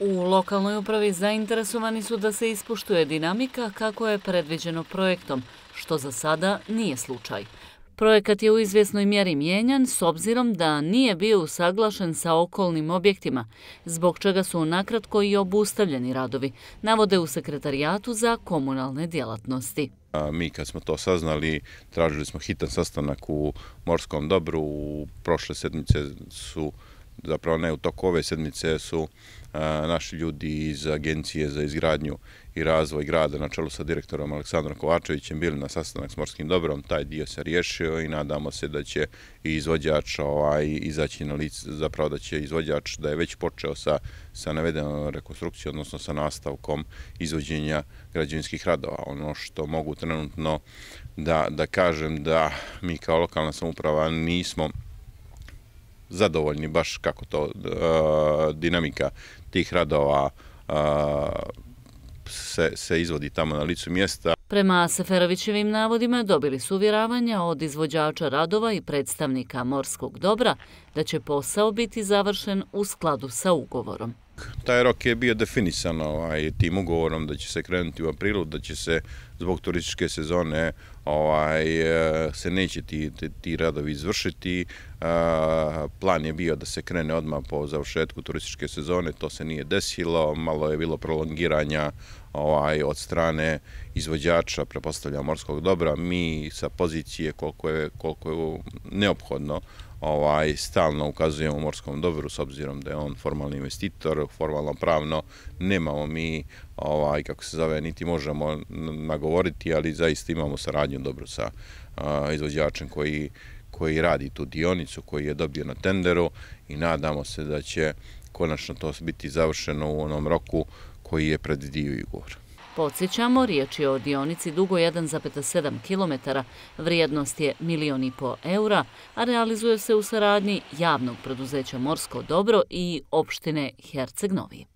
U lokalnoj upravi zainteresovani su da se ispoštuje dinamika kako je predviđeno projektom, što za sada nije slučaj. Projekat je u izvjesnoj mjeri mijenjan s obzirom da nije bio usaglašen sa okolnim objektima, zbog čega su nakratko i obustavljeni radovi, navode u Sekretarijatu za komunalne djelatnosti. Mi kad smo to saznali, tražili smo hitan sastanak u Morskom dobru. Prošle sedmice su, zapravo ne u toku ove sedmice, su naši ljudi iz Agencije za izgradnju i razvoj grada na čelu sa direktorom Aleksandrom Kovačevićem bili na sastanak s Morskim dobrom. Taj dio se riješio i nadamo se da će i izvođač izaći na lice, zapravo da će izvođač da je već počeo sa navedenom rekonstrukcijom, odnosno sa nastavkom izvođenja građevinskih radova. Ono što mogu trenutno da kažem da mi kao lokalna samouprava nismo zadovoljni baš kako to dinamika tih radova se izvodi tamo na licu mjesta. Prema Seferovićevim navodima dobili su uvjeravanja od izvođača radova i predstavnika Morskog dobra da će posao biti završen u skladu sa ugovorom. Taj rok je bio definisan tim ugovorom da će se krenuti u aprilu, da će se zbog turističke sezone se neće ti radovi izvršiti. Plan je bio da se krene odmah po završetku turističke sezone, to se nije desilo, malo je bilo prolongiranja od strane izvođača, pretpostavljam Morskog dobra. Mi sa pozicije koliko je neophodno stalno ukazujemo Morskom dobru s obzirom da je on formalni investitor, formalno pravno nemamo mi, kako se zove, niti možemo nagovoriti, ali zaista imamo saradnju dobro sa izvođačem koji radi tu dionicu, koji je dobio na tenderu i nadamo se da će konačno to biti završeno u onom roku koji je predvidio ugovor. Podsjećamo, riječ je o dionici dugo 1,7 km, vrijednost je 1,5 miliona eura, a realizuje se u saradnji javnog preduzeća Morsko dobro i opštine Herceg Novi.